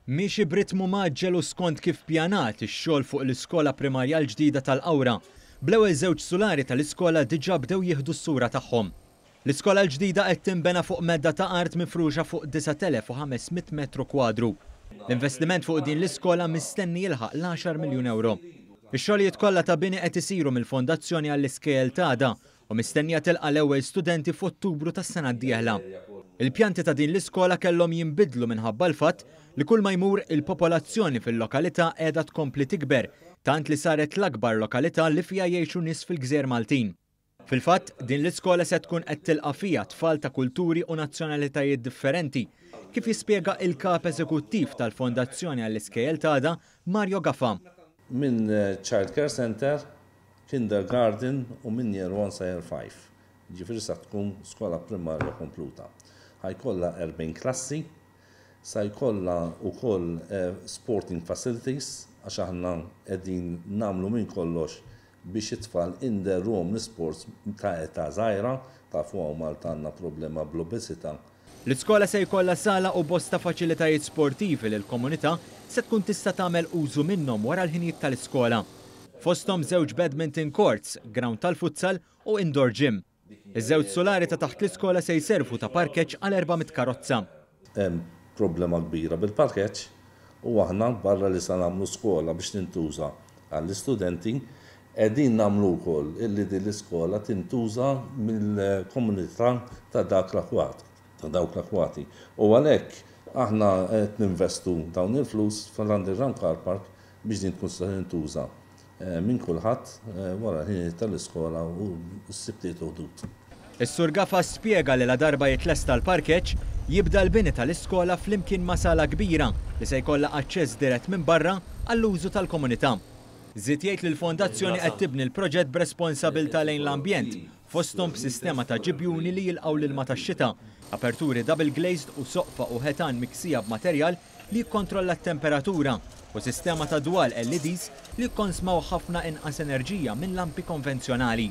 Miexi b'ritmu mgħaġġel u skont kif pjanat ix-xogħol fuq l-iskola primarja l-ġdida tal-Qawra, bl-ewwel żewġ sulari tal-iskola diġà bdew jieħdu s-sura tagħhom. L-iskola l-ġdida qed tinbena fuq medda ta' art mifruxa fuq 9,500 metru kwadru. L-investiment fuq din l-iskola mistenni jilħaq l-għaxar miljun ewro. Ix-xogħlijiet kollha ta' bini qed isiru mill-Fondazzjoni għall-Iskejjel t'Għada u mistennija tilqa' l-ewwel studenti f'Ottubru tas-sena d-dieħla. Il-pjanti ta' din l-iskola kellhom jinbidlu minħabba l-fatt li kull ma jmur il-popolazzjoni fil-lokalità qiegħda tkompli tikber tant li saret l-akbar lokalità li fiha jgħixu nies fil-gżejjer Maltin. Fil-fatt, din l-iskola se tkun qed tilqa' fiha tfal ta' kulturi u nazzjonalitajiet differenti, kif jispjega il-Kap Eżekuttiv tal-Fondazzjoni għall-Iskejjel t'Għada, Mario Gafa. Minn Child Care Centre Kindergarten u minn Year 1 sa Year 5. Jiġifieri sa tkun skola primarja kompluta. Ħa jkollha 40 klassi, sa jkollha wkoll sporting facilities għax aħna qegħdin nagħmlu minn kollox biex it-tfal inderruhom l-isports ta' età żgħira. Tafu hawn Malta għandna problema bl-obesità. L-iskola se jkollha sala u bosta faċilitajiet sportivi li l-komunità se tkun tista' tagħmel użu minnhom wara l-ħinijiet tal-iskola. Fosthom żewġ badminton courts, ground tal-futsal u indoor gym. Iż-żewġ sulari ta' taħt l-iskola se jservu ta' parkeġġ għal 400 karozza. Hemm problema kbira bil-parkeġġ u aħna barra li se nagħmlu skola biex tintuża għall-istudenti, qegħdin nagħmlu wkoll illi din l-iskola tintuża mill-komunità ta' dak l-akwat, ta' dawk l-akwati. U għalhekk aħna qed ninvestu dawn il-flus fl-underground car park biex din tkun tista' tintuża minn kulħadd wara l-ħinijiet tal-iskola u s-Sibtiet u Ħdud. Is-Sur Gafa spjega li ladarba jitlesta l-parkeġġ, jibda l-bini tal-iskola flimkien ma' sala kbira li se jkollha aċċess dirett minn barra għall-użu tal-komunità. Żied jgħid li l-fondazzjoni qed tibni l-proġett b'responsabilità lejn l-ambjent, fosthom b'sistema ta' ġibjuni li jilqgħu l-ilma tax-xita, aperturi double glazed u soqfa u ħetan miksija b'materjal li jikkontrolla t-temperatura u sistema ta' dwal LEDs li jikkonsmaw ħafna inqas enerġija minn lampi konvenzjonali.